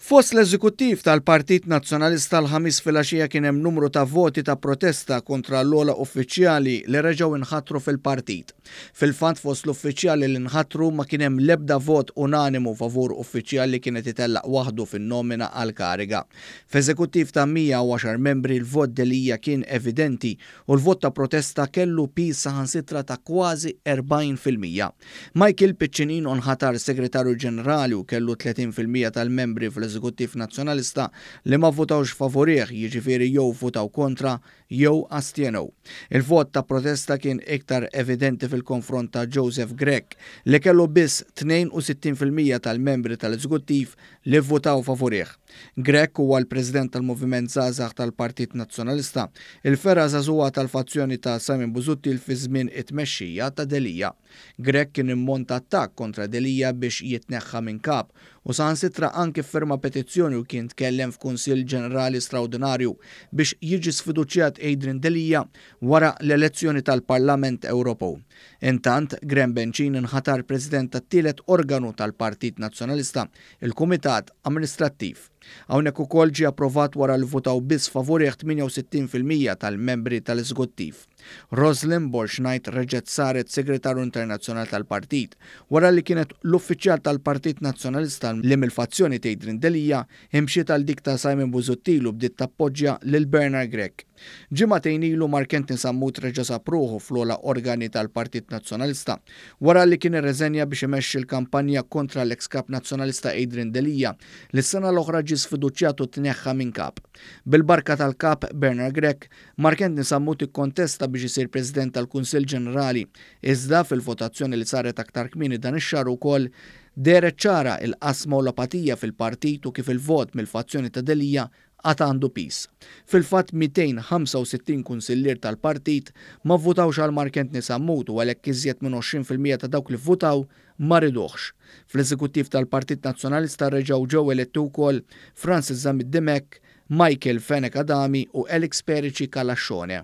Fost l-eżekuttiv tal-Partit Nazzjonalista l-Ħamis filgħaxija kien hemm numru ta' voti ta' protesta kontra l-ogħla uffiċjali li reġgħu inħatru fil-partit. Fil-fatt, fost l-uffiċjali li nħatru ma kien hemm l-ebda vot unanimu favur uffiċjali li kienet itellaq waħdu fin-nomina għal kariga. F'eżekuttiv ta' 110 membri, l-vot Delia kien evidenti u l-vot ta' protesta kellu piż saħansitra ta' kważi 40%. Michael Piccinino nħatar segretarju ġenerali u kellu 30% tal-membri fl-Eżekuttiv Nazzjonalista li ma votawx favorih, jiġifieri jew votaw kontra jew astjenew. Il-vot ta' protesta kien iktar evidenti fil-konfront ta' Joseph Grech, li kellu biss 62% tal-membri tal-Eżekuttiv li votaw favorih. Grech huwa l-President tal-Moviment Żgħażagħ tal-Partit Nazzjonalista, il-fergħa żagħżugħa tal-fazzjoni ta' Simon Busuttil fi żmien it-tmexxija ta' Delia. Grech kien immonta attakk kontra Delia biex jitneħħa minn kap u saħansitra anki firma petizzjoni u kien tkellem f'Kunsill Ġenerali Straordinarju biex jiġi sfiduċjat Adrian Delia wara l-elezzjoni tal-Parlament Ewropew. Intant, Graham Bencin inħatar President tat-tielet organu tal-Partit Nazzjonalista, il-Kumitat Amministrattiv. Hawnhekk ukoll ġie approvat wara li votaw biss favorih 68% tal-membri tal-eżekuttiv. Roslyn Borg Knight reġgħet saret segretarju internazzjonali tal-partit wara li kienet l-uffiċjal tal-Partit Nazzjonalista li mill-fazzjoni ta' Adrian Delia imxiet għal dik ta' Simon Busuttil u bdiet tappoġġja lil Bernard Grech. Ġimagħtejn ilu, Mark Anthony Sammut reġa' sab ruħu fl-ogħla organi tal-Partit Nazzjonalista wara li kien irreżenja biex imexxi l-kampanja kontra l-ex kap nazzjonalista Adrian Delia, li s-sena l-oħra ġie sfiduċjat u tneħħa minn kap. Bil-barka tal-kap Bernard Grech, Mark Anthony Sammut ikkontesta biex isir President tal-Kunsill Ġenerali, iżda fil-votazzjoni li saret aktar kmieni dan ix-xahar ukoll dehret ċara il-qasma u l-apatija fil-partit u kif il-vot mill-fazzjoni ta' Delia għad għandu piż. Fil-fatt, 265 kunsillier tal-partit ma vvutawx għal Mark Anthony Sammut u għalhekk iżjed minn 20% ta' dawk li vvutaw ma riduhx. Fl-eżekuttiv tal-Partit Nazzjonalista reġgħu ġew eletti wkoll Francis Zammit Dimech, Michael Fenech Adami u Alex Perici Calascione.